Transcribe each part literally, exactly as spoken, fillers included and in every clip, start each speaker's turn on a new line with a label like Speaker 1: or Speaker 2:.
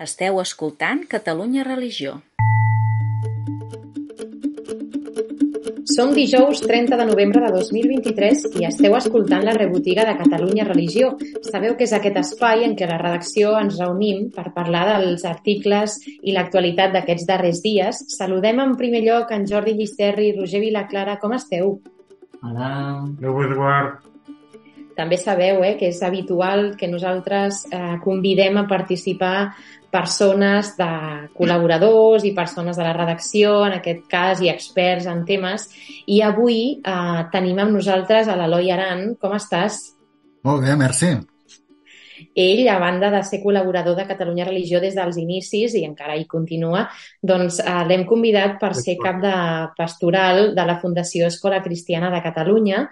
Speaker 1: Esteu escoltant Catalunya Religió.
Speaker 2: Som dijous trenta de novembre de dos mil vint-i-tres i esteu escoltant la rebotiga de Catalunya Religió. Sabeu que és aquest espai en què la redacció ens reunim per parlar dels articles i l'actualitat d'aquests darrers dies. Saludem en primer lloc en Jordi Llisterri i Roger Vilaclara. Com esteu?
Speaker 3: Hola.
Speaker 4: Déu vos guard.
Speaker 2: També sabeu eh, que és habitual que nosaltres eh, convidem a participar persones de col·laboradors i persones de la redacció, en aquest cas, i experts en temes. I avui eh, tenim amb nosaltres a l'Eloi Aran. Com estàs?
Speaker 3: Molt bé, merci.
Speaker 2: Ell, a banda de ser col·laborador de Catalunya Religió des dels inicis, i encara hi continua, doncs eh, l'hem convidat per ser cap de pastoral de la Fundació Escola Cristiana de Catalunya,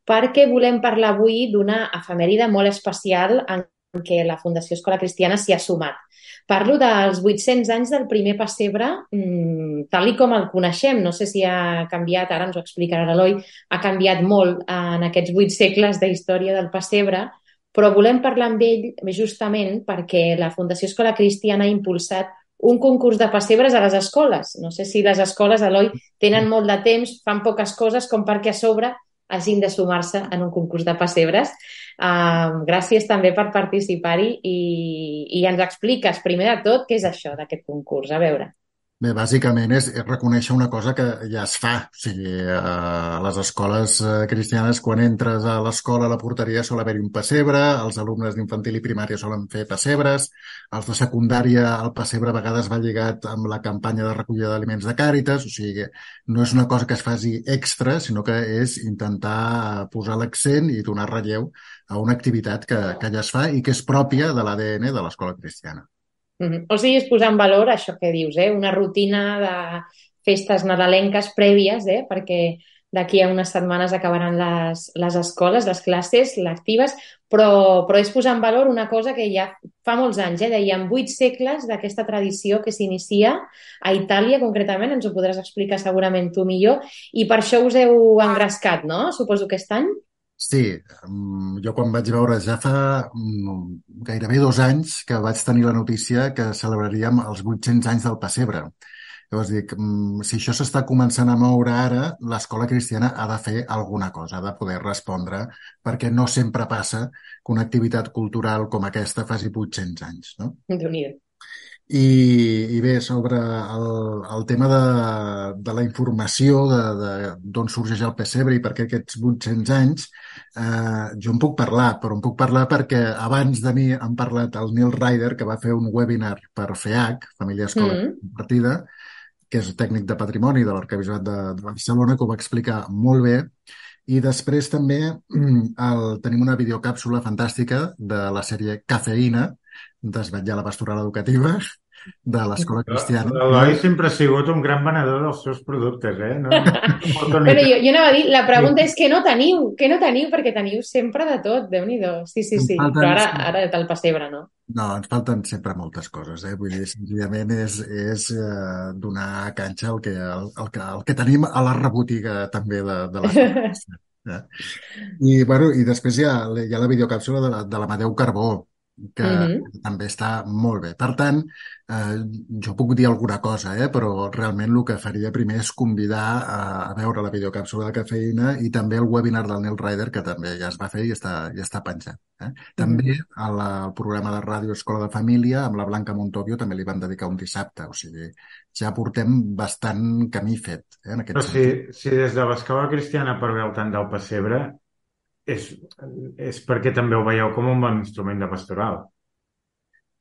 Speaker 2: perquè volem parlar avui d'una efemèride molt especial en què la Fundació Escola Cristiana s'hi ha sumat. Parlo dels vuit-cents anys del primer pessebre, mmm, tal i com el coneixem. No sé si ha canviat, ara ens ho explicarà l'Eloi, ha canviat molt en aquests vuit segles de història del pessebre, però volem parlar amb ell justament perquè la Fundació Escola Cristiana ha impulsat un concurs de pessebres a les escoles. No sé si les escoles, Eloi, tenen molt de temps, fan poques coses com perquè a sobre hagin de sumar-se en un concurs de pessebres. Uh, gràcies també per participar-hi i, i ens expliques, primer de tot, què és això d'aquest concurs. A veure.
Speaker 3: Bé, bàsicament és, és reconèixer una cosa que ja es fa. O sigui, a les escoles cristianes, quan entres a l'escola, a la porteria, sol haver-hi un pessebre, els alumnes d'infantil i primària solen fer pessebres, els de secundària, el pessebre a vegades va lligat amb la campanya de recollida d'aliments de Càritas, o sigui, no és una cosa que es faci extra, sinó que és intentar posar l'accent i donar relleu a una activitat que, que ja es fa i que és pròpia de l'A D N de l'escola cristiana.
Speaker 2: Mm-hmm. O sigui, és posar en valor això que dius, eh? Una rutina de festes nadalenques prèvies, eh? Perquè d'aquí a unes setmanes acabaran les, les escoles, les classes lectives, però, però és posar en valor una cosa que ja fa molts anys, eh? Dèiem, vuit segles d'aquesta tradició que s'inicia a Itàlia, concretament, ens ho podràs explicar segurament tu millor, i per això us heu engrescat, no? Suposo que aquest any?
Speaker 3: Sí, jo quan vaig veure ja fa gairebé dos anys que vaig tenir la notícia que celebraríem els vuit-cents anys del pessebre. Llavors dic, si això s'està començant a moure ara, l'escola cristiana ha de fer alguna cosa, ha de poder respondre, perquè no sempre passa que una activitat cultural com aquesta faci vuit-cents anys, no?
Speaker 2: Déu-n'hi-do.
Speaker 3: I, i bé, sobre el, el tema de, de la informació d'on sorgeix el pessebre i per què aquests vuit-cents anys, eh, jo en puc parlar, però en puc parlar perquè abans de mi han parlat el Neil Ryder, que va fer un webinar per F E A C, Família Escola
Speaker 2: Mm.
Speaker 3: Compartida, que és tècnic de patrimoni de l'Arquebisbat de, de Barcelona, que ho va explicar molt bé. I després també el, tenim una videocàpsula fantàstica de la sèrie Cafeïna, desvetllar la pastoral educativa de l'escola cristiana.
Speaker 4: L'Eloi sempre ha sigut un gran venedor dels seus productes, eh? No, no,
Speaker 2: Però jo, jo anava a dir, la pregunta és què no teniu? Què no teniu? Perquè teniu sempre de tot, Déu-n'hi-do. Sí, sí, sí.
Speaker 3: Falten...
Speaker 2: Però ara, ara del pessebre, no?
Speaker 3: No, ens falten sempre moltes coses, eh? Vull dir, senzillament és, és eh, donar canxa al que, al, al, que, al que tenim a la rebotiga també de, de l'escola. Eh? I, bueno, i després hi ha, hi ha la videocàpsula de, la, de l'Amadeu Carbó, que
Speaker 2: Mm-hmm.
Speaker 3: també està molt bé. Per tant, eh, jo puc dir alguna cosa, eh, però realment el que faria primer és convidar a, a veure la videocàpsula de Cafeïna i també el webinar del Neil Ryder, que també ja es va fer i està, ja està penjat. Eh? També a la, al programa de ràdio Escola de Família, amb la Blanca Montovio, també li van dedicar un dissabte. O sigui, ja portem bastant camí fet. Eh, en aquest
Speaker 4: però si, si des de l'escola cristiana parleu tant del pessebre, és, és perquè també ho veieu com un bon instrument de pastoral.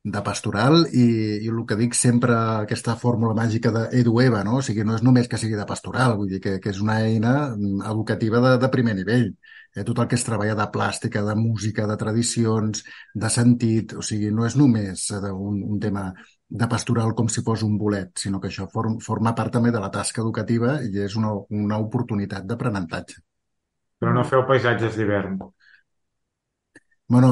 Speaker 3: De pastoral i, i el que dic sempre, aquesta fórmula màgica d'Edueva, no? O sigui, no és només que sigui de pastoral, vull dir que, que és una eina educativa de, de primer nivell. Eh, tot el que es treballa de plàstica, de música, de tradicions, de sentit, o sigui, no és només un, un tema de pastoral com si fos un bolet, sinó que això form, forma part també de la tasca educativa i és una, una oportunitat d'aprenentatge.
Speaker 4: Però no feu paisatges d'hivern.
Speaker 3: Bueno,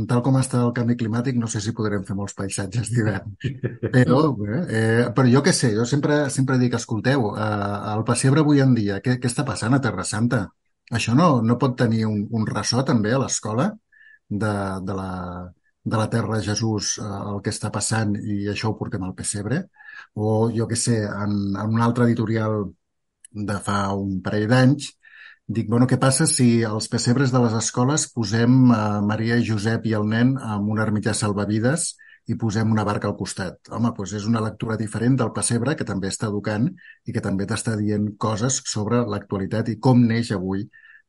Speaker 3: tal com està el canvi climàtic, no sé si podrem fer molts paisatges d'hivern. Però, eh, però jo què sé, jo sempre, sempre dic, escolteu, eh, el pessebre avui en dia, què, què està passant a Terra Santa? Això no, no pot tenir un, un ressò també a l'escola de, de, la, de la terra de Jesús eh, el que està passant i això ho portem al pessebre. O, jo què sé, en, en un altre editorial de fa un parell d'anys, dic, bueno, què passa si als pessebres de les escoles posem eh, Maria i Josep i el nen amb un ermità salvavides i posem una barca al costat? Home, doncs és una lectura diferent del pessebre que també està educant i que també t'està dient coses sobre l'actualitat i com neix avui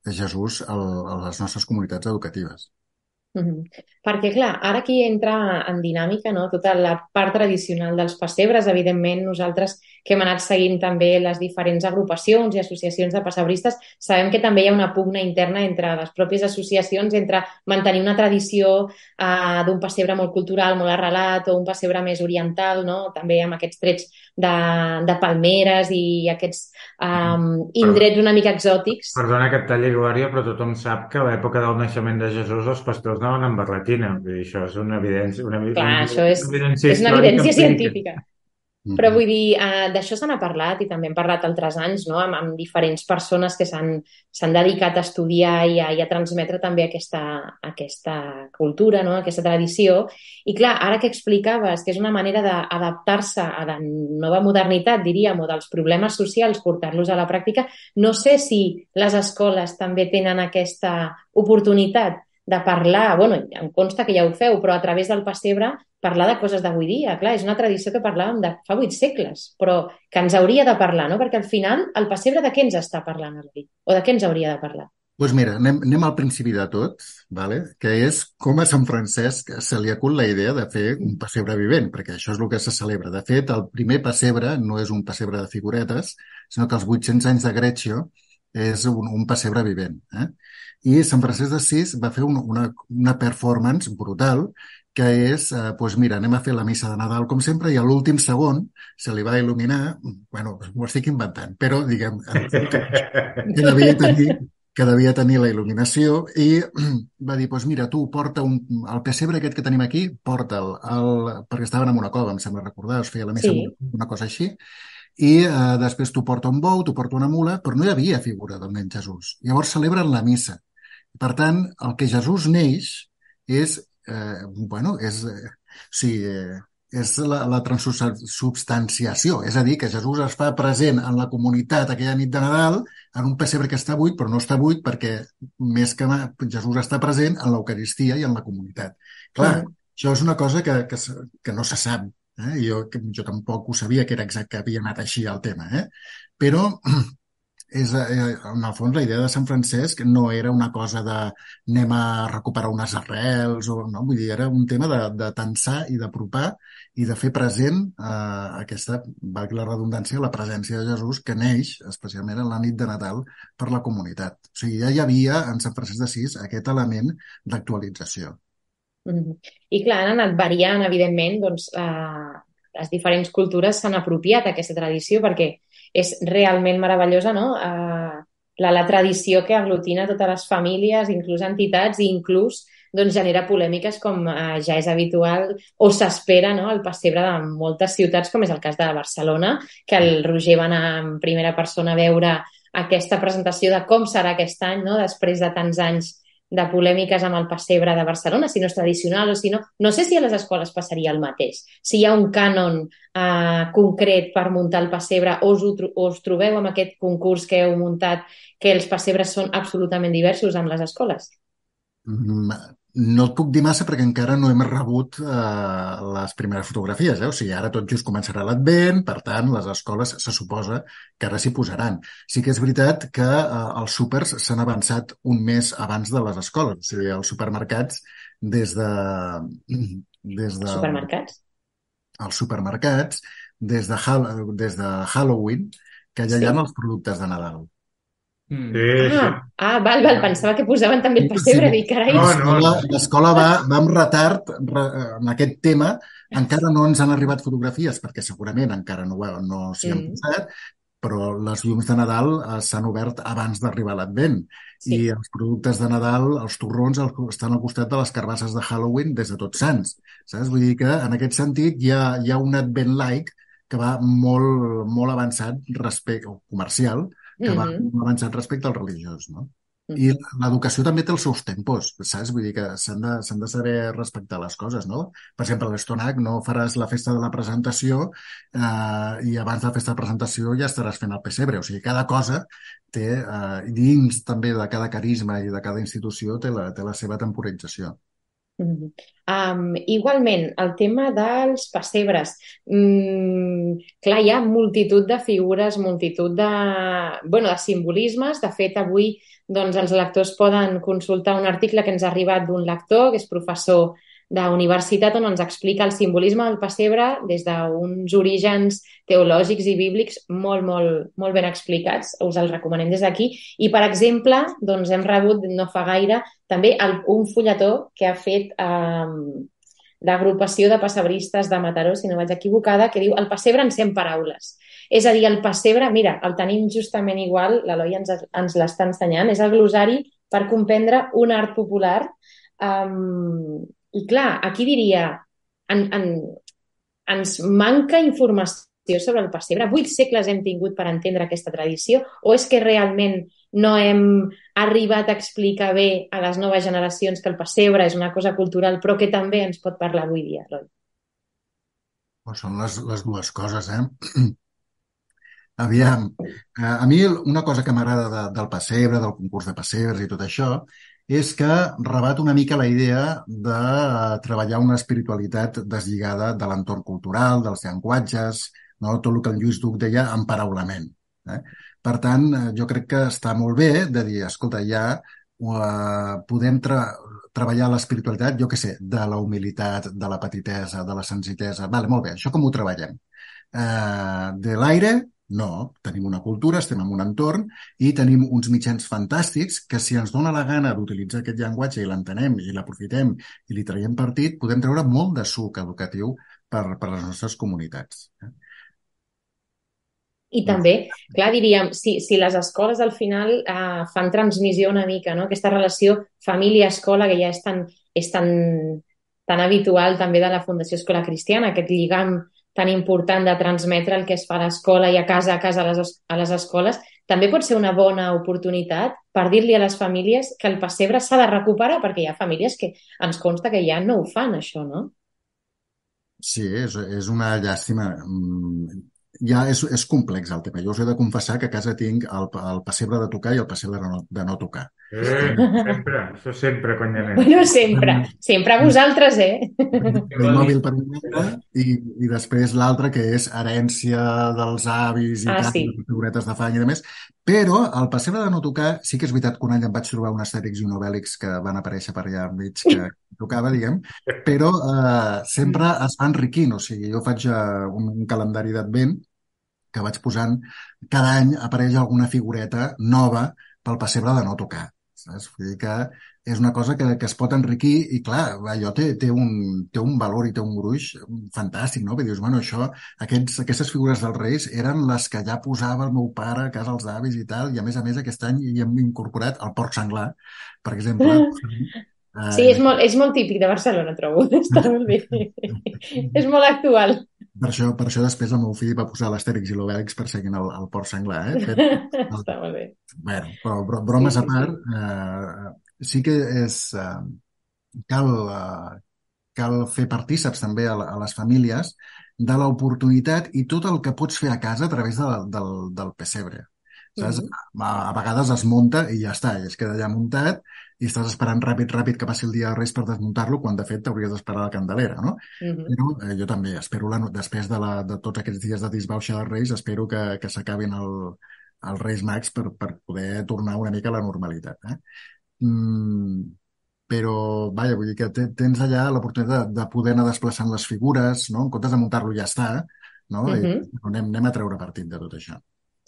Speaker 3: Jesús a les nostres comunitats educatives.
Speaker 2: Mhm. Perquè, clar, ara aquí entra en dinàmica, no?, tota la part tradicional dels pessebres. Evidentment, nosaltres que hem anat seguint també les diferents agrupacions i associacions de pessebristes, sabem que també hi ha una pugna interna entre les pròpies associacions, entre mantenir una tradició eh, d'un pessebre molt cultural, molt arrelat, o un pessebre més oriental, no?, també amb aquests trets de, de palmeres i aquests um, indrets una mica exòtics.
Speaker 4: Perdona que et talli, Glòria, però tothom sap que a l'època del naixement de Jesús els pastors anaven amb barretina. Vull dir, això és una evidència, una,
Speaker 2: Clar,
Speaker 4: una,
Speaker 2: això és,
Speaker 4: una evidència
Speaker 2: és una
Speaker 4: històrica
Speaker 2: evidència
Speaker 4: empírica.
Speaker 2: científica. Però vull dir, eh, d'això se n'ha parlat i també hem parlat altres anys, no?, amb, amb diferents persones que s'han s'han dedicat a estudiar i a, i a transmetre també aquesta, aquesta cultura, no?, aquesta tradició. I clar, ara que explicaves que és una manera d'adaptar-se a la nova modernitat, diríem, o dels problemes socials, portar-los a la pràctica, no sé si les escoles també tenen aquesta oportunitat de parlar, bueno, em consta que ja ho feu, però a través del pessebre parlar de coses d'avui dia. Clar, és una tradició que parlàvem de fa vuit segles, però que ens hauria de parlar, no? Perquè al final el pessebre de què ens està parlant avui? O de què ens hauria de parlar?
Speaker 3: Doncs pues mira, anem, anem al principi de tot, vale? Que és com a Sant Francesc se li acut la idea de fer un pessebre vivent, perquè això és el que se celebra. De fet, el primer pessebre no és un pessebre de figuretes, sinó que els vuit-cents anys de Greccio és un, un pessebre vivent. Eh? I Sant Francesc d'Assís va fer un, una, una performance brutal que és, eh, doncs mira, anem a fer la missa de Nadal com sempre i a l'últim segon se li va il·luminar, bueno, m'ho estic inventant, però diguem que devia tenir, que devia tenir la il·luminació i va dir, doncs mira, tu porta un, el pessebre aquest que tenim aquí, porta'l, el, perquè estaven en una cova, em sembla recordar, es feia la missa
Speaker 2: Sí.
Speaker 3: una cosa així, i eh, després tu porta un bou, tu porta una mula, però no hi havia figura del nen Jesús. Llavors celebren la missa. Per tant, el que Jesús neix és, eh, bueno, és, eh, sí, eh, és la, la transubstanciació, és a dir, que Jesús es fa present en la comunitat aquella nit de Nadal en un pessebre que està buit, però no està buit perquè més que mai, Jesús està present en l'Eucaristia i en la comunitat. Clar,
Speaker 2: Mm.
Speaker 3: això és una cosa que, que, que no se sap. Eh? Jo, jo tampoc ho sabia que era exacte, que havia anat així el tema, eh? Però és, eh, en el fons, la idea de Sant Francesc no era una cosa de anem a recuperar unes arrels, o, no? Vull dir, era un tema de, de tensar i d'apropar i de fer present eh, aquesta, valgui la redundància, la presència de Jesús que neix, especialment en la nit de Nadal, per la comunitat. O sigui, ja hi havia en Sant Francesc d'Assís aquest element d'actualització.
Speaker 2: Mhm. I clar, han anat variant, evidentment, doncs eh, les diferents cultures s'han apropiat d'aquesta tradició perquè és realment meravellosa, no? Eh, la, la tradició que aglutina totes les famílies, inclús entitats, i inclús doncs, genera polèmiques com eh, ja és habitual o s'espera, no?, el pessebre de moltes ciutats, com és el cas de Barcelona, que el Roger va anar en primera persona a veure aquesta presentació de com serà aquest any, no?, després de tants anys de polèmiques amb el pessebre de Barcelona, si no és tradicional o si no... No sé si a les escoles passaria el mateix. Si hi ha un cànon eh, concret per muntar el pessebre o us, ho, o us trobeu amb aquest concurs que heu muntat que els pessebres són absolutament diversos en les escoles?
Speaker 3: Mm, No et puc dir massa perquè encara no hem rebut eh, les primeres fotografies. Eh? O sigui, ara tot just començarà l'Advent, per tant, les escoles se suposa que ara s'hi posaran. Sí que és veritat que eh, els súpers s'han avançat un mes abans de les escoles. O sigui, els supermercats, des de... Des de
Speaker 2: Supermercats?
Speaker 3: els supermercats, des de, Hall des de Halloween, que ja
Speaker 2: Sí.
Speaker 3: hi ha els productes de Nadal.
Speaker 4: Sí, sí.
Speaker 2: Ah, ah, val, val, pensava que posaven també el pessebre,
Speaker 3: Sí.
Speaker 2: dic, carai.
Speaker 4: No, no.
Speaker 3: L'escola l'escola va, va amb retard re, en aquest tema. Encara no ens han arribat fotografies, perquè segurament encara no, ho- no s'hi han
Speaker 2: Mm.
Speaker 3: posat, però les llums de Nadal eh, s'han obert abans d'arribar l'Advent.
Speaker 2: Sí.
Speaker 3: I els productes de Nadal, els torrons, el, estan al costat de les carbasses de Halloween des de Tots Sants. Saps? Vull dir que, en aquest sentit, hi ha, hi ha un Advent-like que va molt, molt avançat respecte, o comercial, que va
Speaker 2: Mhm.
Speaker 3: molt avançat respecte al religiós, no? I l'educació també té els seus tempos, saps? Vull dir que s'han de, s'han de saber respectar les coses, no? Per exemple, a l'Estonac no faràs la festa de la presentació eh, i abans de la festa de presentació ja estaràs fent el pessebre. O sigui, cada cosa té, eh, dins també de cada carisma i de cada institució, té la, té la seva temporització.
Speaker 2: Mm. Um, igualment, el tema dels pessebres. Mm, clar, hi ha multitud de figures, multitud de, bueno, de simbolismes. De fet, avui doncs, els lectors poden consultar un article que ens ha arribat d'un lector, que és professor de universitat, on ens explica el simbolisme del pessebre des d'uns orígens teològics i bíblics molt, molt, molt ben explicats. Us el recomanem des d'aquí. I, per exemple, doncs, hem rebut no fa gaire també el, un fulletó que ha fet eh, l'agrupació de pessebristes de Mataró, si no vaig equivocada, que diu el pessebre en cent paraules. És a dir, el pessebre, mira, el tenim justament igual, l'Eloi ens, ens l'està ensenyant, és el glosari per comprendre un art popular. Um, I clar, aquí diria, en, en, ens manca informació sobre el pessebre. Vuit segles hem tingut per entendre aquesta tradició, o és que realment no hem arribat a explicar bé a les noves generacions que el pessebre és una cosa cultural, però que també ens pot parlar avui dia, Eloi?
Speaker 3: Pues són les, les dues coses, eh? Aviam, eh, a mi una cosa que m'agrada de, del pessebre, del concurs de pessebres i tot això, és que rebat una mica la idea de treballar una espiritualitat deslligada de l'entorn cultural, dels llenguatges, no? Tot el que en Lluís Duc deia emparaulament. Eh? Per tant, jo crec que està molt bé de dir, escolta, ja uh, podem tra treballar l'espiritualitat, jo què sé, de la humilitat, de la petitesa, de la senzillesa. Vale, molt bé, això com ho treballem? Uh, de l'aire? No, tenim una cultura, estem en un entorn i tenim uns mitjans fantàstics que si ens dona la gana d'utilitzar aquest llenguatge i l'entenem i l'aprofitem i li traiem partit, podem treure molt de suc educatiu per, per les nostres comunitats.
Speaker 2: I també, clar, diríem, si, si les escoles al final eh, fan transmissió una mica, no? Aquesta relació família-escola que ja és tan, és tan, tan habitual també de la Fundació Escola Cristiana, aquest lligam tan important de transmetre el que es fa a l'escola i a casa, a casa a les, a les escoles, també pot ser una bona oportunitat per dir-li a les famílies que el pessebre s'ha de recuperar, perquè hi ha famílies que ens consta que ja no ho fan, això, no?
Speaker 3: Sí, és, és una llàstima. Ja és, és complex el tema. Jo us he de confessar que a casa tinc el, el pessebre de tocar i el pessebre de no, de no tocar.
Speaker 4: Eh, sempre, això sempre, quan hi anem.
Speaker 2: Bueno, sempre, sempre a vosaltres, eh?
Speaker 3: El mòbil per un banda i, i després l'altre que és herència dels avis i
Speaker 2: Ah,
Speaker 3: tal,
Speaker 2: sí.
Speaker 3: figuretes de fang i demés. Però el pessebre de no tocar, sí que és veritat que un any em vaig trobar un Astèrix i un Obèlix que van aparèixer per allà enmig que tocava, diguem, però eh, sempre es va enriquint. O sigui, jo faig uh, un, un calendari d'advent que vaig posant, cada any apareix alguna figureta nova pel pessebre de no tocar. Saps? Vull dir que és una cosa que, que es pot enriquir i, clar, allò té, té, un, té un valor i té un gruix fantàstic, no? Perquè dius, bueno, això, aquests, aquestes figures dels Reis eren les que ja posava el meu pare a casa als avis i tal, i a més a més aquest any hi hem incorporat el porc senglar, per exemple. Eh,
Speaker 2: Sí, és molt, és molt típic de Barcelona, trobo. Està molt bé. És molt actual.
Speaker 3: Per això, per això després el meu fill va posar l'Astèrix i l'Obèlix perseguint el, el porc senglar, eh? Fet, el,
Speaker 2: Està molt bé.
Speaker 3: bueno, però bro- bromes
Speaker 2: Sí,
Speaker 3: a
Speaker 2: sí,
Speaker 3: part, eh, sí que és, eh, cal, eh, cal fer partíceps també a, la- a les famílies de l'oportunitat i tot el que pots fer a casa a través de, del, del pessebre. Saps?
Speaker 2: Mhm.
Speaker 3: A, a vegades es munta i ja està, i es queda allà muntat i estàs esperant ràpid, ràpid que passi el dia de Reis per desmuntar-lo, quan de fet t'hauries d'esperar a la Candelera, no?
Speaker 2: Mhm.
Speaker 3: Però eh, jo també espero, la, no- després de, la, de tots aquests dies de disbauxa dels Reis, espero que, que s'acabin el, els Reis Mags per, per poder tornar una mica a la normalitat. Eh? Mm, però, vaja, vull dir que te- tens allà l'oportunitat de, de poder anar desplaçant les figures, no? En comptes de muntar-lo ja està, no? I
Speaker 2: Mhm.
Speaker 3: anem, anem a treure partit de tot això.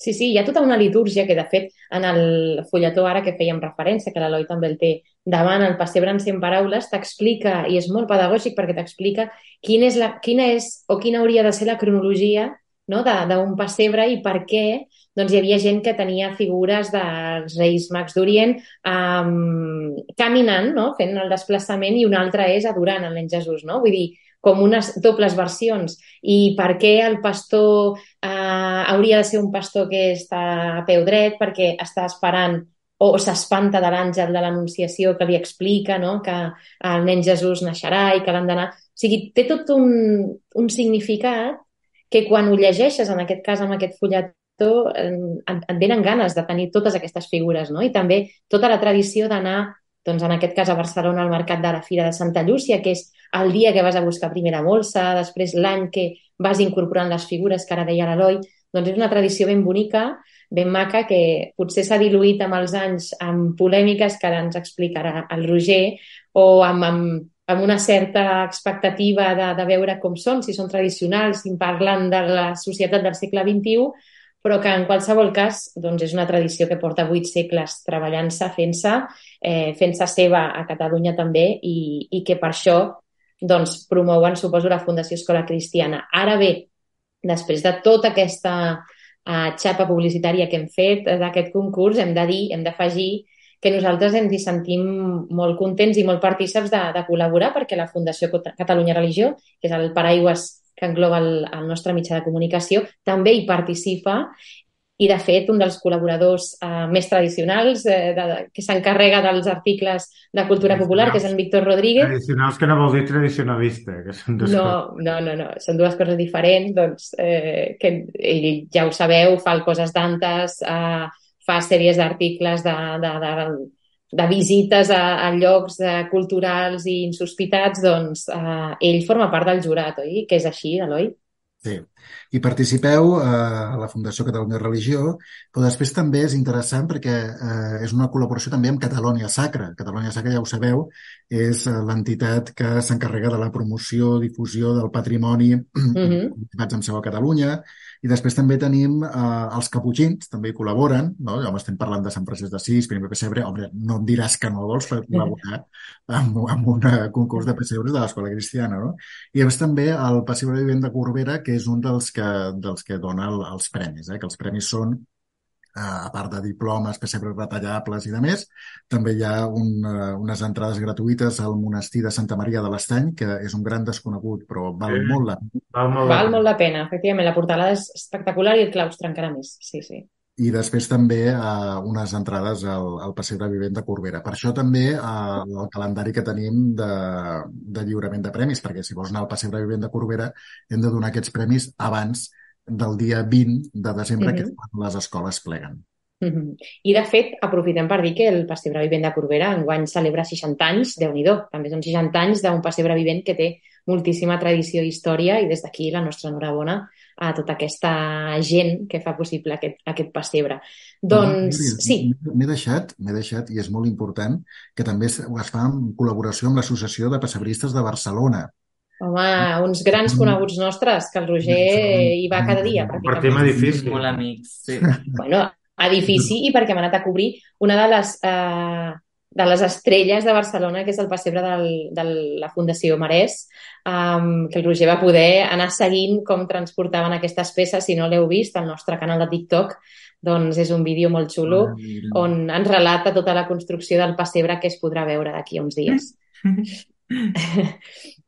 Speaker 2: Sí, sí, hi ha tota una litúrgia que, de fet, en el fulletó ara que fèiem referència, que l'Eloi també el té davant, el pessebre en cent paraules, t'explica, i és molt pedagògic perquè t'explica quina és, la, quina és o quina hauria de ser la cronologia, no?, de- d'un pessebre i per què doncs, hi havia gent que tenia figures dels Reis Mags d'Orient um, caminant, no?, fent el desplaçament, i una altra és adorant el nen Jesús, no? Vull dir, com unes dobles versions. I per què el pastor eh, hauria de ser un pastor que està a peu dret, perquè està esperant o s'espanta de l'àngel de l'Anunciació que li explica, no?, que el nen Jesús naixerà i que l'han d'anar... O sigui, té tot un, un significat que quan ho llegeixes, en aquest cas amb aquest fulletó, et, et venen ganes de tenir totes aquestes figures, no? I també tota la tradició d'anar, doncs en aquest cas a Barcelona, al mercat de la Fira de Santa Llúcia, que és el dia que vas a buscar primera molsa, després l'any que vas incorporant les figures que ara deia l'Eloi, doncs és una tradició ben bonica, ben maca, que potser s'ha diluït amb els anys amb polèmiques que ara ens explicarà el Roger, o amb, amb, amb una certa expectativa de, de veure com són, si són tradicionals, si parlen de la societat del segle vint-i-u, però que en qualsevol cas doncs és una tradició que porta vuit segles treballant-se, fent-se, eh, fent-se seva a Catalunya també, i, i que per això doncs, promouen, suposo, la Fundació Escola Cristiana. Ara bé, després de tota aquesta uh, xapa publicitària que hem fet d'aquest concurs, hem de dir, hem d'afegir que nosaltres ens hi sentim molt contents i molt partíceps de, de col·laborar, perquè la Fundació Catalunya Religió, que és el paraigües que engloba el, el nostre mitjà de comunicació, també hi participa. I, de fet, un dels col·laboradors eh, més tradicionals eh, de, que s'encarrega dels articles de cultura popular, que és en Víctor Rodríguez.
Speaker 4: Tradicionals que no vol dir tradicionalista, que són dues
Speaker 2: no,
Speaker 4: coses.
Speaker 2: No, no, no, són dues coses diferents, doncs, eh, que ell, ja ho sabeu, fa el Coses d'Antes, eh, fa sèries d'articles de, de, de, de visites a, a llocs eh, culturals i insospitats, doncs eh, ell forma part del jurat, oi? Que és així, Eloi?
Speaker 3: Sí, i participeu eh, a la Fundació Catalunya Religió, però després també és interessant perquè eh, és una col·laboració també amb Catalonia Sacra. Catalonia Sacra, ja ho sabeu, és eh, l'entitat que s'encarrega de la promoció, difusió del patrimoni mm-hmm. amb seu a Catalunya, i després també tenim eh, els caputxins, també hi col·laboren, no? Home, estem parlant de Sant Francesc d'Assís, primer pessebre, home, no em diràs que no vols col·laborar amb, amb un concurs de pessebres de l'Escola Cristiana, no? I després també el Pessebre Vivent de Corbera, que és un dels que, dels que dona el, els premis, eh? Que els premis són, eh, a part de diplomes, pessebres retallables i de més, també hi ha un, uh, unes entrades gratuïtes al monestir de Santa Maria de l'Estany, que és un gran desconegut, però val sí. molt la pena.
Speaker 2: Val, molt, val la molt la pena, efectivament. La portalada és espectacular i el claustre encara més. Sí, sí.
Speaker 3: I després també eh, unes entrades al, al Pessebre Vivent de Corbera. Per això també eh, el calendari que tenim de, de lliurament de premis, perquè si vols anar al Pessebre Vivent de Corbera hem de donar aquests premis abans del dia vint de desembre, mm-hmm. que és quan les escoles pleguen.
Speaker 2: Mm-hmm. I, de fet, aprofitem per dir que el Pessebre Vivent de Corbera enguany celebra seixanta anys, Déu-n'hi-do, també són seixanta anys d'un pessebre vivent que té moltíssima tradició i història, i des d'aquí la nostra enhorabona a tota aquesta gent que fa possible aquest, aquest pessebre. Doncs,
Speaker 3: no,
Speaker 2: sí.
Speaker 3: M'he deixat, m'he deixat, i és molt important, que també es fa en col·laboració amb l'Associació de Pessebristes de Barcelona.
Speaker 2: Home, uns grans coneguts nostres, que el Roger hi va cada dia, pràcticament.
Speaker 4: Partim edifici.
Speaker 1: Molt amics, sí.
Speaker 2: Bueno, edifici, i perquè hem anat a cobrir una de les, eh, de les estrelles de Barcelona, que és el pessebre del, de la Fundació Marès, um, que el Roger va poder anar seguint com transportaven aquestes peces. Si no l'heu vist, al nostre canal de TikTok, doncs és un vídeo molt xulo, oh, on ens relata tota la construcció del pessebre, que es podrà veure d'aquí a uns dies.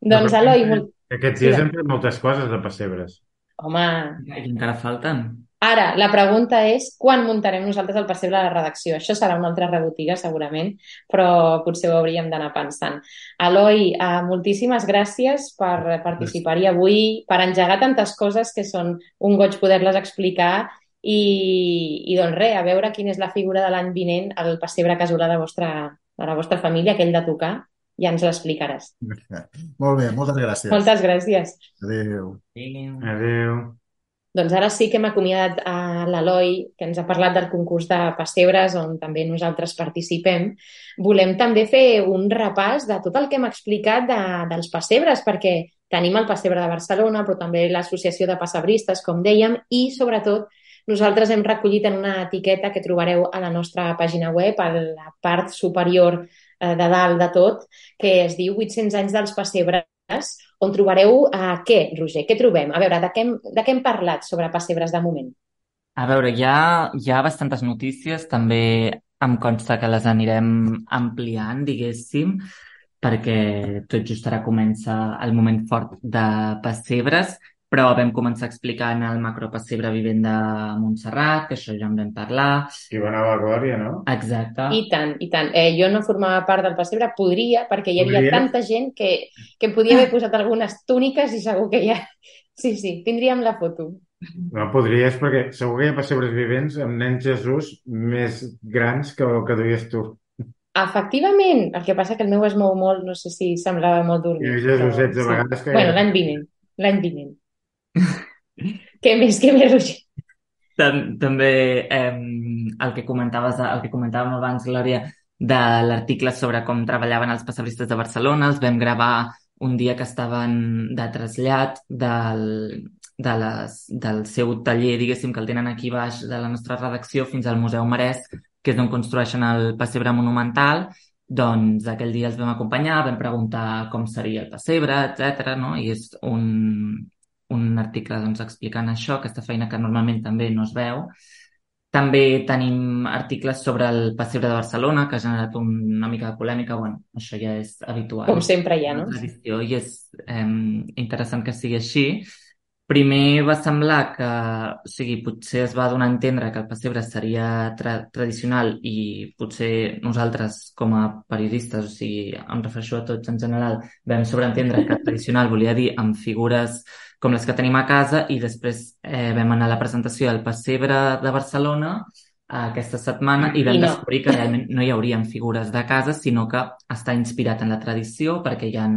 Speaker 2: Doncs, Eloi... Molt...
Speaker 4: Aquests dies hem fet moltes coses de pessebres.
Speaker 2: Home...
Speaker 1: I encara falten.
Speaker 2: Ara, la pregunta és quan muntarem nosaltres el pessebre a la redacció. Això serà una altra rebotiga, segurament, però potser ho hauríem d'anar pensant. Eloi, eh, moltíssimes gràcies per participar-hi avui, per engegar tantes coses que són un goig poder-les explicar, i, i doncs res, a veure quina és la figura de l'any vinent, el pessebre casolà de, vostra, de la vostra família, aquell de tocar, ja ens l'explicaràs.
Speaker 3: Molt bé, moltes gràcies.
Speaker 2: Moltes gràcies.
Speaker 3: Adéu.
Speaker 1: Adéu.
Speaker 4: Adéu.
Speaker 2: Doncs ara sí que hem acomiadat a l'Eloi, que ens ha parlat del concurs de pessebres, on també nosaltres participem. Volem també fer un repàs de tot el que hem explicat de, dels pessebres, perquè tenim el pessebre de Barcelona, però també l'Associació de Pessebristes, com dèiem, i sobretot nosaltres hem recollit en una etiqueta que trobareu a la nostra pàgina web, a la part superior eh, de dalt de tot, que es diu vuit-cents anys dels pessebres, on trobareu eh, què, Roger? Què trobem? A veure, de què, hem, de què hem parlat sobre pessebres de moment?
Speaker 1: A veure, hi ha, hi ha bastantes notícies, també em consta que les anirem ampliant, diguéssim, perquè tot just ara comença el moment fort de pessebres, però vam començar explicant el macropessebre vivent de Montserrat, que això ja en vam parlar.
Speaker 4: I va anar a la Glòria, no?
Speaker 1: Exacte.
Speaker 2: I tant, i tant. Eh, jo no formava part del pessebre, podria, perquè hi havia
Speaker 4: Podries?
Speaker 2: tanta gent que, que em podia haver posat algunes túniques i segur que ja... Sí, sí, tindríem la foto.
Speaker 4: No podries, perquè segur que hi ha pessebres vivents amb nens Jesús més grans que el que duies tu.
Speaker 2: Efectivament, el que passa que el meu es mou molt, no sé si semblava molt
Speaker 4: I
Speaker 2: dormit.
Speaker 4: els Jesusets
Speaker 2: però
Speaker 4: a vegades que...
Speaker 2: Bueno, l'any vinent, l'any vinent. Què més, què més, Roger?
Speaker 1: Tam- També eh, el que comentaves, el que comentàvem abans, Glòria, de l'article sobre com treballaven els pessebristes de Barcelona, els vam gravar un dia que estaven de trasllat del, de les, del seu taller, diguéssim, que el tenen aquí baix de la nostra redacció fins al Museu Marès, que és on construeixen el pessebre monumental. Doncs aquell dia els vam acompanyar, vam preguntar com seria el pessebre, etcètera, no? I és un, un article doncs, explicant això, aquesta feina que normalment també no es veu. També tenim articles sobre el pessebre de Barcelona, que ha generat un, una mica de polèmica. Bueno, això ja és habitual.
Speaker 2: Com sempre hi ha,
Speaker 1: Una
Speaker 2: no?
Speaker 1: tradició, i és eh, interessant que sigui així. Primer va semblar que, o sigui, potser es va donar a entendre que el pessebre seria tra tradicional i potser nosaltres com a periodistes, o sigui, em refereixo a tots en general, vam sobreentendre que tradicional volia dir amb figures com les que tenim a casa, i després eh, vam anar a la presentació del pessebre de Barcelona aquesta setmana i vam
Speaker 2: I no.
Speaker 1: descobrir que realment no hi haurien figures de casa, sinó que està inspirat en la tradició, perquè hi ha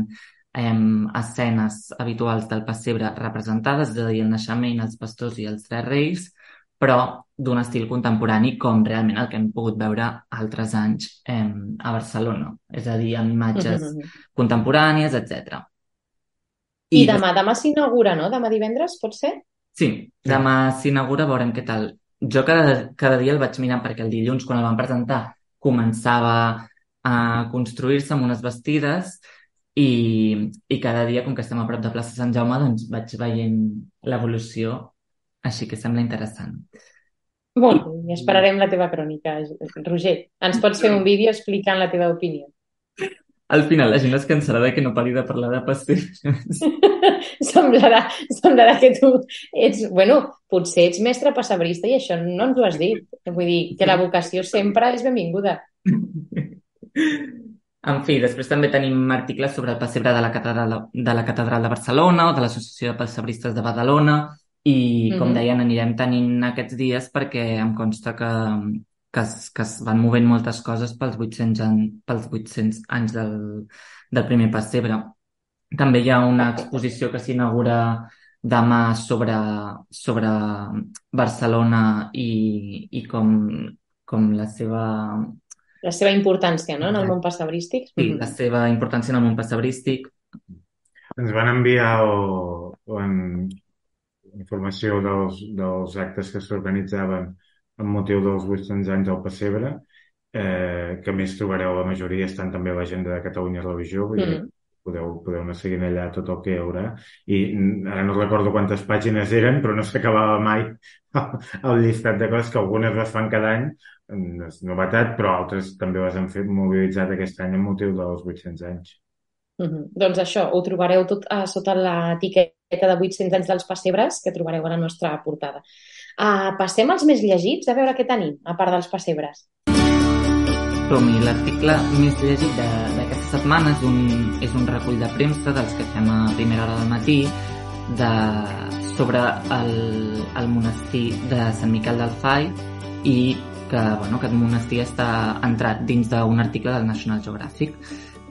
Speaker 1: eh, escenes habituals del pessebre representades, és a dir, el naixement, els pastors i els tres reis, però d'un estil contemporani, com realment el que hem pogut veure altres anys eh, a Barcelona, és a dir, amb imatges contemporànies, etcètera.
Speaker 2: I demà, demà s'inaugura, no? Demà divendres, pot ser?
Speaker 1: Sí, demà s'inaugura, veurem què tal. Jo cada, cada dia el vaig mirant perquè el dilluns, quan el van presentar, començava a construir-se amb unes bastides i, i cada dia, com que estem a prop de plaça Sant Jaume, doncs vaig veient l'evolució, així que sembla interessant.
Speaker 2: Molt bé, i esperarem la teva crònica. Roger, ens pots fer un vídeo explicant la teva opinió?
Speaker 1: Al final la gent es cansarà de que no pari de parlar de pastís.
Speaker 2: semblarà, semblarà que tu ets... Bueno, potser ets mestre pessebrista i això no ens ho has dit. Vull dir, que la vocació sempre és benvinguda.
Speaker 1: En fi, després també tenim articles sobre el pessebre de la Catedral de, la Catedral de Barcelona o de l'Associació de Pessebristes de Badalona i, com
Speaker 2: Mhm.
Speaker 1: deien, anirem tenint aquests dies perquè em consta que, que, es, que es van movent moltes coses pels vuit-cents, an, pels vuit-cents anys del, del primer pessebre. També hi ha una exposició que s'inaugura demà sobre, sobre Barcelona i, i com, com la seva...
Speaker 2: La seva importància, no?, en el món pessebrístic.
Speaker 1: Sí, la seva importància en el món pessebrístic.
Speaker 4: Ens van enviar el, en, informació dels, dels actes que s'organitzaven amb motiu dels vuit-cents anys del pessebre, eh, que a més trobareu la majoria, estan també a l'agenda de Catalunya Religió, vull dir,
Speaker 2: Mm.
Speaker 4: podeu, podeu anar seguint allà tot el que hi haurà. I mm, ara no recordo quantes pàgines eren, però no s'acabava mai el llistat de coses, que algunes les fan cada any, no és novetat, però altres també les han fet mobilitzat aquest any amb motiu dels vuit-cents anys.
Speaker 2: Mhm. Doncs això, ho trobareu tot a sota l'etiqueta de vuit-cents anys dels pessebres que trobareu a la nostra portada. Uh, passem als més llegits, a veure què tenim, a part dels pessebres.
Speaker 1: Som-hi, l'article més llegit de- d'aquesta setmana és un, és un recull de premsa dels que fem a primera hora del matí de, sobre el, el monestir de Sant Miquel del Fai i que bueno, aquest monestir està entrat dins d'un article del National Geographic.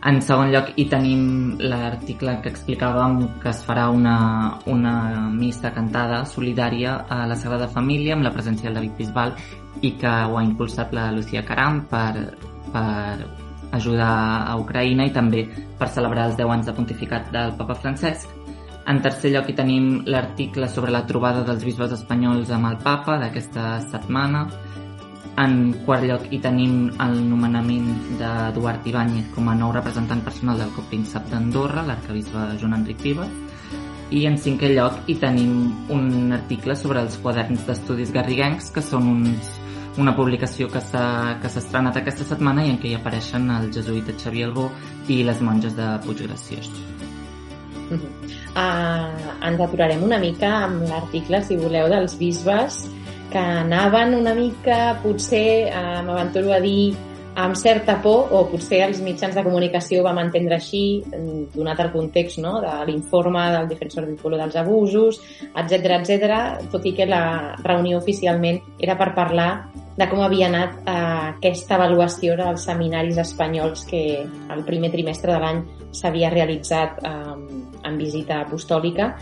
Speaker 1: En segon lloc, hi tenim l'article que explicàvem que es farà una, una missa cantada solidària a la Sagrada Família amb la presència del David Bisbal i que ho ha impulsat la Lucía Caram per, per ajudar a Ucraïna i també per celebrar els deu anys de pontificat del Papa Francesc. En tercer lloc, hi tenim l'article sobre la trobada dels bisbes espanyols amb el Papa d'aquesta setmana. En quart lloc, hi tenim el nomenament d'Eduard Ibáñez com a nou representant personal del copríncep d'Andorra, l'arquebisbe Joan Enric Vives. I en cinquè lloc, hi tenim un article sobre els quaderns d'estudis garriguencs, que són uns, una publicació que s'ha que s'ha estrenat aquesta setmana i en què hi apareixen el jesuïta Xavier Albó i les monges de Puiggraciós.
Speaker 2: Uh-huh. Uh, ens aturarem una mica amb l'article, si voleu, dels bisbes que anaven una mica, potser, uh, m'aventuro a dir, amb certa por, o potser els mitjans de comunicació ho vam entendre així, donat el context, no?, de l'informe del defensor del pueblo dels abusos, etcètera, etcètera, tot i que la reunió oficialment era per parlar de com havia anat eh, aquesta avaluació dels seminaris espanyols que el primer trimestre de l'any s'havia realitzat eh, en visita apostòlica,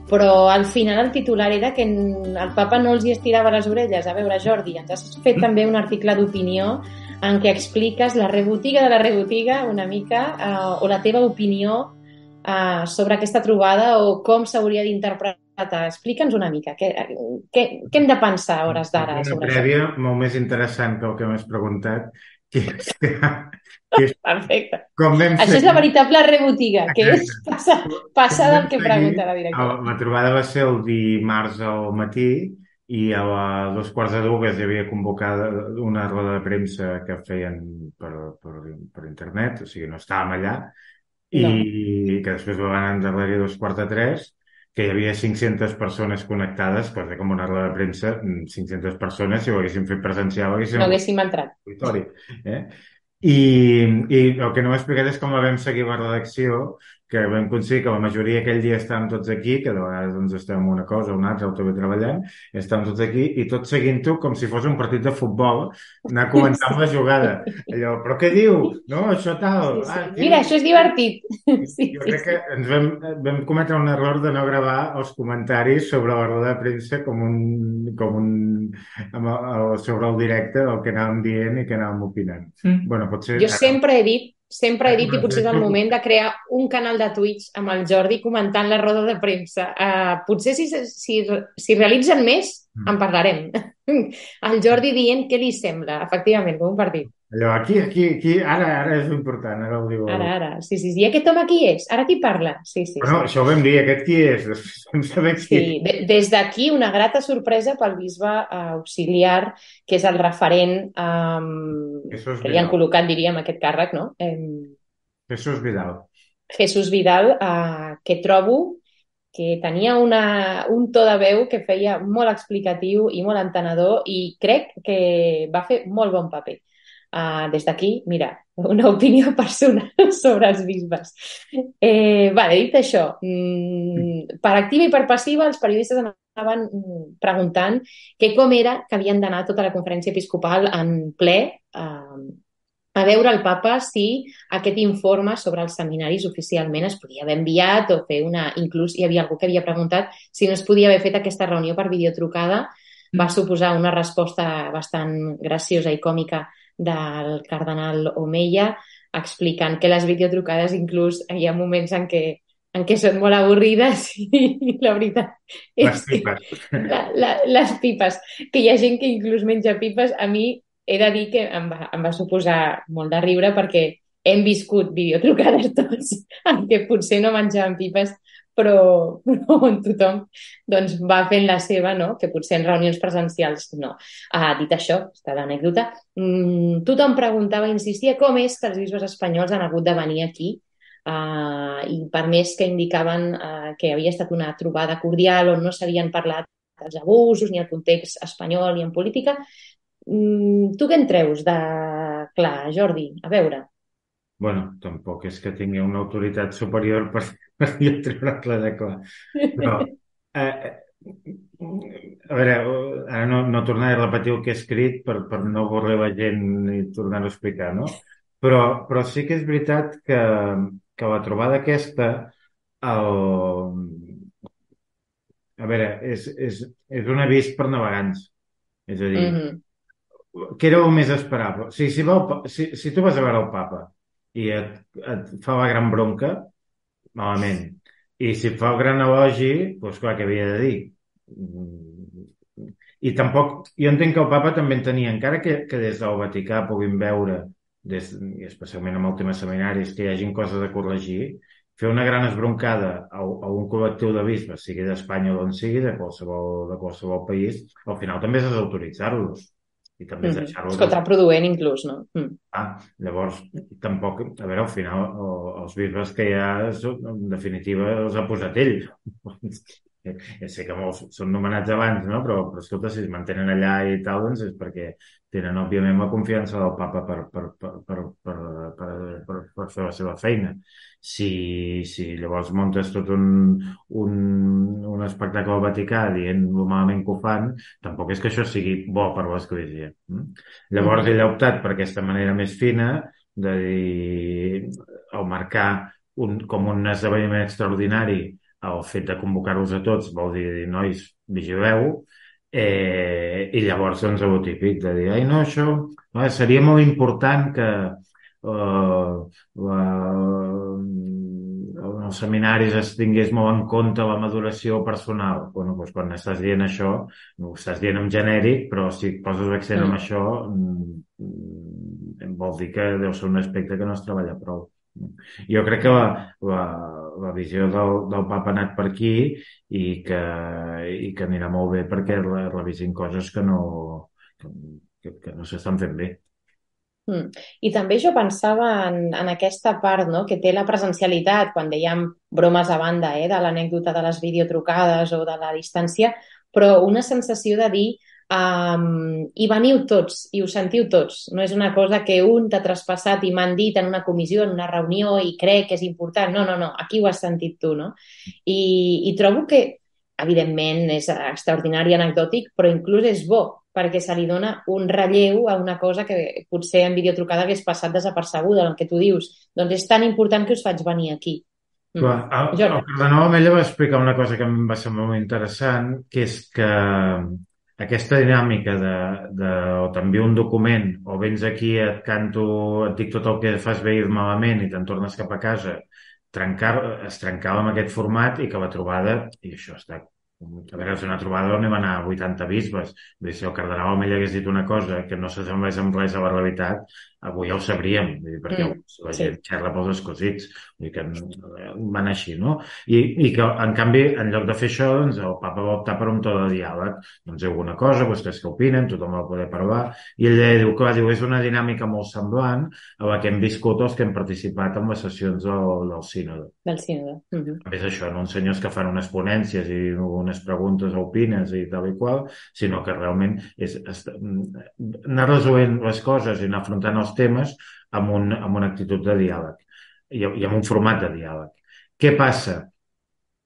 Speaker 2: però al final el titular era que el papa no els hi estirava les orelles. A veure, Jordi, ens has fet també un article d'opinió en què expliques la rebotiga de la rebotiga una mica, eh, o la teva opinió eh, sobre aquesta trobada o com s'hauria d'interpretar. Explica'ns una mica, què, què, què hem de pensar a hores d'ara sobre
Speaker 4: això? Una prèvia molt més interessant que el que m'has preguntat, que és, que, que és
Speaker 2: perfecte.
Speaker 4: Com vam
Speaker 2: Això
Speaker 4: seguir...
Speaker 2: és la veritable rebotiga, que és passar, passar del que pregunta la directora.
Speaker 4: La trobada va ser el dimarts al matí i a les dos quarts de dues hi havia convocada una roda de premsa que feien per, per, per internet, o sigui, no estàvem allà, i no. Que després ho van endarrerir a dos quarts de tres, que hi havia cinc-centes persones connectades, cosa com una roda de premsa, cinc-centes persones, si ho haguéssim fet presencial, haguéssim...
Speaker 2: No haguéssim entrat.
Speaker 4: Eh? I, I el que no m'he explicat és com la vam seguir la redacció, que vam aconseguir que la majoria aquell dia estàvem tots aquí, que de vegades doncs, estem en una cosa o una altra, o també treballant, estàvem tots aquí, i tots seguint-ho com si fos un partit de futbol, anar comentant sí. la jugada. Allò, però què diu? No, això tal...
Speaker 2: Sí, sí. Ah, mira, això és divertit. Sí,
Speaker 4: jo
Speaker 2: sí,
Speaker 4: crec
Speaker 2: sí.
Speaker 4: que ens vam, vam cometre un error de no gravar els comentaris sobre la roda de premsa com un... Com un amb el, sobre el directe del que anàvem dient i que anàvem opinant.
Speaker 2: Mm.
Speaker 4: Bueno, potser...
Speaker 2: Jo sempre he dit Sempre he dit, i potser és el moment de crear un canal de Twitch amb el Jordi comentant la roda de premsa. Uh, potser si, si, si realitzen més, en parlarem. El Jordi dient què li sembla, efectivament, com un partit.
Speaker 4: Allò, aquí, aquí, aquí, ara, ara és important, ara ho diu.
Speaker 2: Ara, ara, sí, sí, sí. I aquest home qui és? Ara qui parla? Sí, sí,
Speaker 4: bueno,
Speaker 2: sí.
Speaker 4: Això ho vam dir, aquest qui és? Vam saber qui
Speaker 2: sí, de, des d'aquí una grata sorpresa pel bisbe uh, auxiliar, que és el referent um, que li han col·locat, diríem, aquest càrrec, no? Um,
Speaker 4: Jesús Vidal.
Speaker 2: Jesús Vidal, uh, que trobo que tenia una, un to de veu que feia molt explicatiu i molt entenedor i crec que va fer molt bon paper. Uh, des d'aquí, mira, una opinió personal sobre els bisbes. Eh, vale, dit això, mm, per activa i per passiva els periodistes anaven preguntant que com era que havien d'anar tota la conferència episcopal en ple uh, a veure el papa si aquest informe sobre els seminaris oficialment es podia haver enviat o fer una... Inclús hi havia algú que havia preguntat si no es podia haver fet aquesta reunió per videotrucada. Va suposar una resposta bastant graciosa i còmica del cardenal Omeya, explicant que les videotrucades inclús hi ha moments en què, en què són molt avorrides i la veritat és
Speaker 4: les pipes.
Speaker 2: que la, la, les pipes, que hi ha gent que inclús menja pipes, a mi he de dir que em va, em va suposar molt de riure perquè hem viscut videotrucades tots en què potser no menjàvem pipes però, però on tothom doncs, va fent la seva, no? Que potser en reunions presencials no. Ah, dit això, està l'anècdota, mmm, tothom preguntava, insistia, com és que els bisbes espanyols han hagut de venir aquí uh, i per més que indicaven uh, que havia estat una trobada cordial on no s'havien parlat dels abusos ni el context espanyol ni en política. Mm, tu què en treus de clar, Jordi? A veure.
Speaker 4: Bueno, tampoc és que tingui una autoritat superior per, per jo treure-la de clar. Però, eh, a veure, ara no, no tornaré a repetir el que he escrit per, per no avorrir la gent i tornar-ho a explicar, no? Però, però sí que és veritat que, que la trobada aquesta, el... a veure, és, és, és un avís per navegants. És a dir, mm-hmm. Què era el més esperable? O sigui, si, va el, si, si tu vas a veure el papa i et, et fa la gran bronca, malament. I si et fa el gran elogi, doncs clar, què havia de dir? I tampoc... Jo entenc que el papa també en tenia, encara que, que des del Vaticà puguin veure, des, especialment amb el tema seminaris, que hi hagin coses a corregir, fer una gran esbroncada a, a un col·lectiu de bisbes, sigui d'Espanya o d'on sigui, de qualsevol, de qualsevol país, al final també és desautoritzar-los. i també és
Speaker 2: Mhm.
Speaker 4: deixar-ho...
Speaker 2: És contraproduent, inclús, no? Mm.
Speaker 4: Ah, llavors, tampoc, a veure, al final, o- els bisbes que hi ha, són- en definitiva, els ha posat ell. Ja sé que molts són nomenats abans, no? Però, però escolta, si es mantenen allà i tal, doncs és perquè tenen, òbviament, la confiança del papa per, per, per, per, per, per, per, per fer la seva feina. Si, si llavors muntes tot un, un, un espectacle al Vaticà dient lo malament que ho fan, tampoc és que això sigui bo per l'Església. Mm? Llavors
Speaker 2: Mhm.
Speaker 4: ell ha optat per aquesta manera més fina de dir, al marcar un, com un esdeveniment extraordinari el fet de convocar-los a tots, vol dir, nois, vigileu, eh, i llavors doncs el típic de dir, ai no, això no, seria molt important que eh, la, els seminaris es tingués molt en compte la maduració personal. Bueno, doncs quan estàs dient això, ho estàs dient en genèric, però si poses l'accent en
Speaker 2: Mm.
Speaker 4: això, mm, vol dir que deu ser un aspecte que no es treballa prou. Jo crec que la, la, la visió del, del papa ha anat per aquí i que, i que anirà molt bé perquè re- revisin coses que no, que, que no s'estan fent bé.
Speaker 2: Mm. I també jo pensava en, en aquesta part, no?, que té la presencialitat, quan dèiem bromes a banda, eh, de l'anècdota de les videotrucades o de la distància, però una sensació de dir um, hi veniu tots i ho sentiu tots. No és una cosa que un t'ha traspassat i m'han dit en una comissió, en una reunió i crec que és important. No, no, no, aquí ho has sentit tu, no? I, i trobo que, evidentment, és extraordinari i anecdòtic, però inclús és bo, perquè se li dona un relleu a una cosa que potser en videotrucada hagués passat desapercebuda, el que tu dius. Doncs és tan important que us faig venir aquí. Mm.
Speaker 4: Clar, el,
Speaker 2: Jo
Speaker 4: el
Speaker 2: no.
Speaker 4: cardenal Amella va explicar una cosa que em va semblar molt interessant, que és que aquesta dinàmica de, de o t'envio un document o vens aquí, et canto, et dic tot el que fas bé i malament i te'n tornes cap a casa, trencar, es trencava amb aquest format i que la trobada, i això està... A veure, és una trobada on hi van anar vuitanta bisbes. Vull dir, si el cardenal Amella hagués dit una cosa que no s'assemblés amb res a la realitat, avui ja ho sabríem, vull dir, perquè
Speaker 2: Mm,
Speaker 4: la
Speaker 2: sí.
Speaker 4: gent xerra pels escosits, vull dir que van així, no? I, i que, en canvi, en lloc de fer això, doncs, el papa va optar per un to de diàleg. Doncs heu alguna cosa, vostès què opinen, tothom va poder parlar, i ell diu, clar, diu, és una dinàmica molt semblant a la que hem viscut els que hem participat en les sessions del, del sínode.
Speaker 2: Del sínode. Mhm.
Speaker 4: És això, no uns senyors que fan unes ponències i unes preguntes o opines i tal i qual, sinó que realment és, és anar resolent les coses i anar afrontant els temes amb, un, amb una actitud de diàleg i, i amb un format de diàleg. Què passa?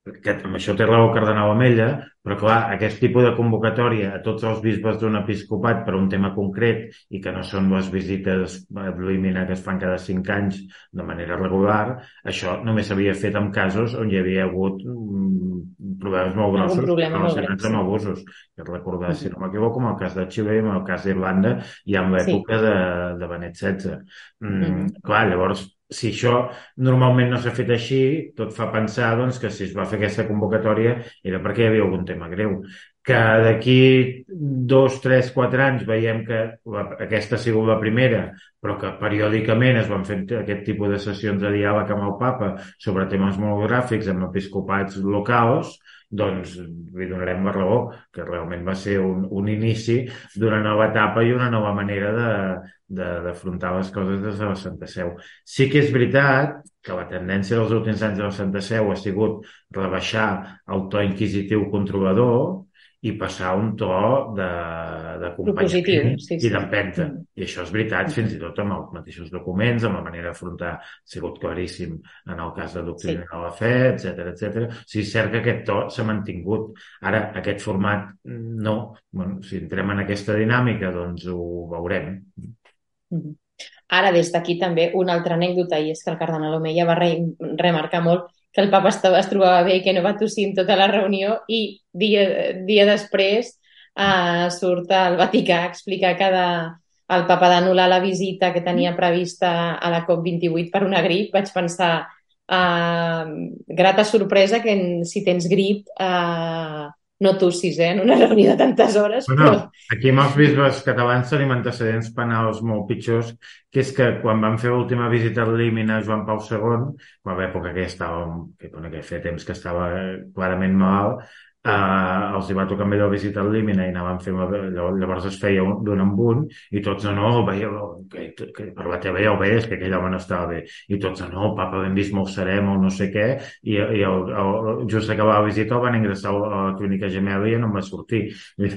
Speaker 4: Que amb això té raó el cardenal Amella, però clar, aquest tipus de convocatòria a tots els bisbes d'un episcopat per un tema concret i que no són les visites ad limina que es fan cada cinc anys de manera regular, això només s'havia fet en casos on hi havia hagut mm, problemes molt
Speaker 2: Algun
Speaker 4: grossos
Speaker 2: problema molt
Speaker 4: relacionats
Speaker 2: greu,
Speaker 4: amb
Speaker 2: sí.
Speaker 4: abusos. Que recordar, si
Speaker 2: Mhm.
Speaker 4: no m'equivoco, amb el cas de Xile i amb el cas d'Irlanda i amb
Speaker 2: Sí.
Speaker 4: l'època de, de Benet setze. Mm,
Speaker 2: Mhm.
Speaker 4: clar, llavors, si això normalment no s'ha fet així, tot fa pensar doncs, que si es va fer aquesta convocatòria era perquè hi havia algun tema greu. Que d'aquí dos, tres, quatre anys veiem que la, aquesta ha sigut la primera, però que periòdicament es van fer aquest tipus de sessions de diàleg amb el papa sobre temes monogràfics amb episcopats locals, doncs li donarem la raó, que realment va ser un, un inici d'una nova etapa i una nova manera de d'afrontar les coses des de la Santa Seu. Sí que és veritat que la tendència dels últims anys de la Santa Seu ha sigut rebaixar el to inquisitiu controlador i passar a un to de,
Speaker 2: Propositiu,
Speaker 4: d'acompanyament
Speaker 2: sí,
Speaker 4: i
Speaker 2: sí.
Speaker 4: d'empenta.
Speaker 2: Mm.
Speaker 4: I això és veritat, fins i tot amb els mateixos documents, amb la manera d'afrontar, ha sigut claríssim en el cas de doctrina
Speaker 2: Sí.
Speaker 4: de la fe, etcètera, etcètera. O sigui, és cert que aquest to s'ha mantingut. Ara, aquest format, no. Bueno, si entrem en aquesta dinàmica, doncs ho veurem.
Speaker 2: Mhm. Ara, des d'aquí també una altra anècdota, i és que el cardenal Omeia va re remarcar molt que el papa estava, es trobava bé i que no va tossir en tota la reunió i dia, dia després eh, surt al Vaticà a explicar que de, el papa d'anul·lar la visita que tenia prevista a la COP vint-i-vuit per una grip. Vaig pensar, eh, grata sorpresa que si tens grip eh, no tossis, eh, en una reunió de tantes hores.
Speaker 4: Bueno,
Speaker 2: Però...
Speaker 4: aquí amb els bisbes catalans tenim antecedents penals molt pitjors, que és que quan van fer l'última visita al límina a Joan Pau segon, a l'època que estava, que, bueno, que feia temps que estava clarament malalt, Uh, els hi va tocar amb allò visitar el Límina i anàvem fent, llavors es feia d'un en un i tots no, no, veieu, que, que per la teva ja ho veies que aquell home no estava bé i tots no, papa, ben vist, molt serem o no sé què i, i el, el, just acabava la visita el van ingressar a la clínica gemela i ja no em va sortir hi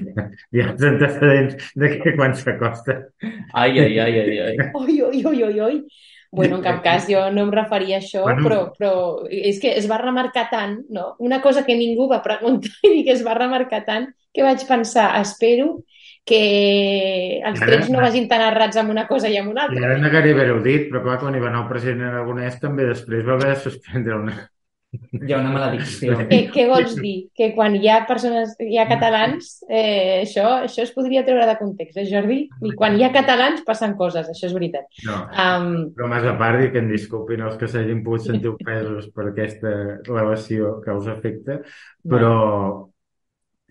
Speaker 4: ha els antecedents de que quan s'acosta
Speaker 1: ai, ai, ai, ai, ai.
Speaker 2: Oi, oi, oi, oi, oi. Bueno, en cap cas jo no em referia a això, bueno, però, però és que es va remarcar tant, no? Una cosa que ningú va preguntar i que es va remarcar tant que vaig pensar, espero que els
Speaker 4: ara,
Speaker 2: trets no vagin tan errats amb una cosa i amb una altra.
Speaker 4: I ara negaré haver-ho dit, però clar, quan hi va anar el president aragonès també després va haver de suspendre una...
Speaker 1: Hi ha una maledicció.
Speaker 2: Què, què vols dir? Que quan hi ha persones, hi ha catalans, eh, això, això es podria treure de context, eh, Jordi? I quan hi ha catalans passen coses, això és veritat.
Speaker 4: No,
Speaker 2: um...
Speaker 4: però més a part, i que em disculpin els que s'hagin pogut sentir ofesos per aquesta relació causa-efecte, però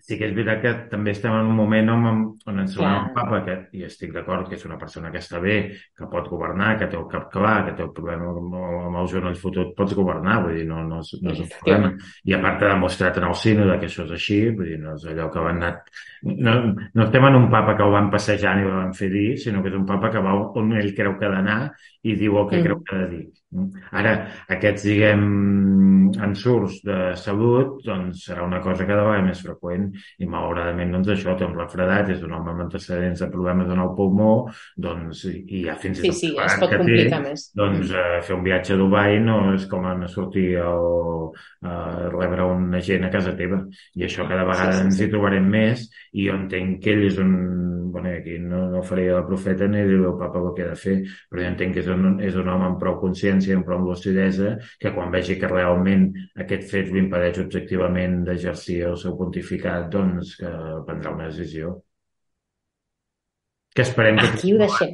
Speaker 4: sí que és veritat que també estem en un moment on, on ens trobem un papa que, i estic d'acord que és una persona que està bé, que pot governar, que té el cap clar, que té el problema amb, amb els genolls fotut, pots governar, vull dir, no, no, és, no és un problema. I a part ha demostrat en el sínode que això és així, vull dir, no és allò que van anar... No, no estem en un papa que ho van passejant i ho van fer dir, sinó que és un papa que va on ell creu que ha d'anar i diu el que mm. creu que ha de dir. Ara, aquests, diguem, ensurts de salut, doncs serà una cosa cada vegada més freqüent i malauradament doncs això té un refredat, és un home amb antecedents de problemes en el pulmó, doncs i ja fins i tot
Speaker 2: sí, sí, es pot complicar té, més.
Speaker 4: Doncs eh, fer un viatge a Dubai no és com anar a sortir o a rebre un agent a casa teva i això cada vegada sí, sí, ens hi trobarem més i jo entenc que ell és un bueno, aquí no, no faré el profeta ni dir el papa el que ha de fer, però jo entenc que és un, és un home amb prou consciència, amb prou lucidesa, que quan vegi que realment aquest fet l'impedeix objectivament d'exercir el seu pontificat, doncs que prendrà una decisió. Que esperem que...
Speaker 2: Aquí ho deixem.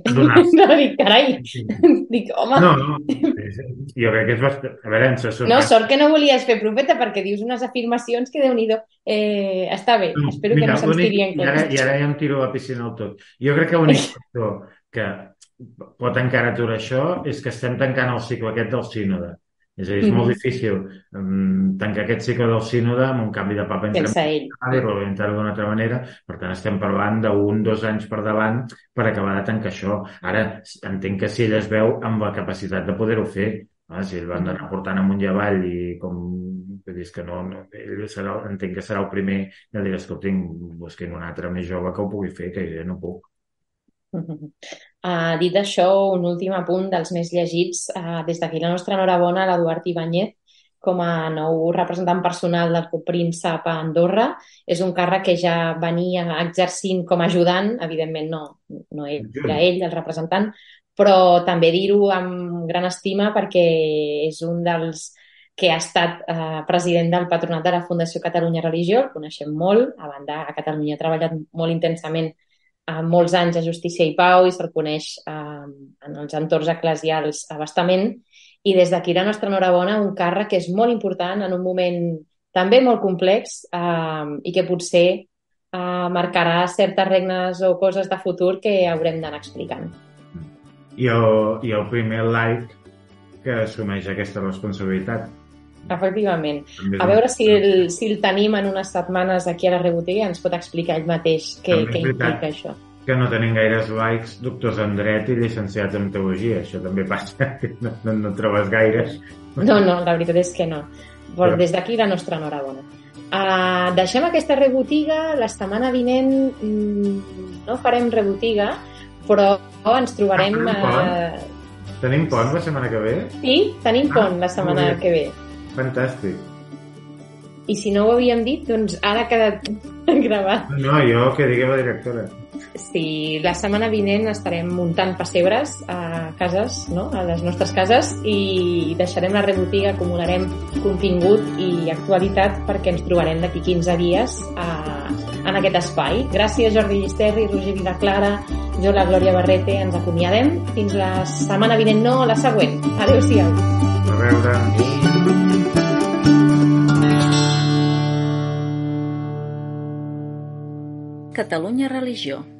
Speaker 2: No, dic, carai. Dic, home...
Speaker 4: No, no. Jo crec que és bastant... A veure, ens surt...
Speaker 2: No, sort que no volies fer profeta perquè dius unes afirmacions que Déu-n'hi-do. Eh, està bé, no, espero mira, que no se'ns tiri en compte. I ara,
Speaker 4: I ara ja em tiro a la piscina al tot. Jo crec que l'únic factor que pot encara aturar això és que estem tancant el cicle aquest del sínode. És a dir, és mm-hmm. molt difícil um, tancar aquest cicle del sínode amb un canvi de papa entre i reorientar-ho d'una altra manera. Per tant, estem parlant d'un, dos anys per davant per acabar de tancar això. Ara, entenc que si ell es veu amb la capacitat de poder-ho fer, ah, si ell va anar portant amunt i avall i com... És que no, no ell serà, entenc que serà el primer que dirà, escolti, busquin un altre més jove que ho pugui fer, que jo no puc.
Speaker 2: Uh, dit això, un últim apunt dels més llegits. Uh, des d'aquí la nostra enhorabona a l'Eduard Ibáñez com a nou representant personal del copríncep a Andorra. És un càrrec que ja venia exercint com a ajudant, evidentment no, no era ell el representant, però també dir-ho amb gran estima perquè és un dels que ha estat eh, president del patronat de la Fundació Catalunya Religió, el coneixem molt, a banda a Catalunya ha treballat molt intensament eh, molts anys a Justícia i Pau i se'l coneix eh, en els entorns eclesials a bastament, i des d'aquí la nostra enhorabona, un càrrec que és molt important en un moment també molt complex eh, i que potser eh, marcarà certes regnes o coses de futur que haurem d'anar explicant.
Speaker 4: I el, i el primer laic que assumeix aquesta responsabilitat.
Speaker 2: Efectivament. A veure si el, si el tenim en unes setmanes aquí a la Rebotiga i ens pot explicar ell mateix què, què implica això.
Speaker 4: Que no tenim gaires laics, doctors en dret i llicenciats en teologia. Això també passa, no, no, no trobes gaires.
Speaker 2: No, no, la veritat és que no. Però des d'aquí la nostra enhorabona. Uh, deixem aquesta Rebotiga. La setmana vinent mm, no farem Rebotiga, però ens trobarem...
Speaker 4: Ah, uh... tenim pont la setmana que ve?
Speaker 2: Sí, tenim pont ah, la setmana que ve.
Speaker 4: Fantàstic.
Speaker 2: I si no ho havíem dit, doncs ara ha quedat gravat.
Speaker 4: No, jo que digui la directora.
Speaker 2: Sí, la setmana vinent estarem muntant pessebres a cases, no? A les nostres cases, i deixarem la Rebotiga, acumularem contingut i actualitat perquè ens trobarem d'aquí quinze dies a, en aquest espai. Gràcies, Jordi Llisterri, Roger Vilaclara, jo, la Glòria Barrete, ens acomiadem. Fins la setmana vinent, no, la següent. Adéu-siau.
Speaker 4: A veure.
Speaker 5: Catalunya Religió.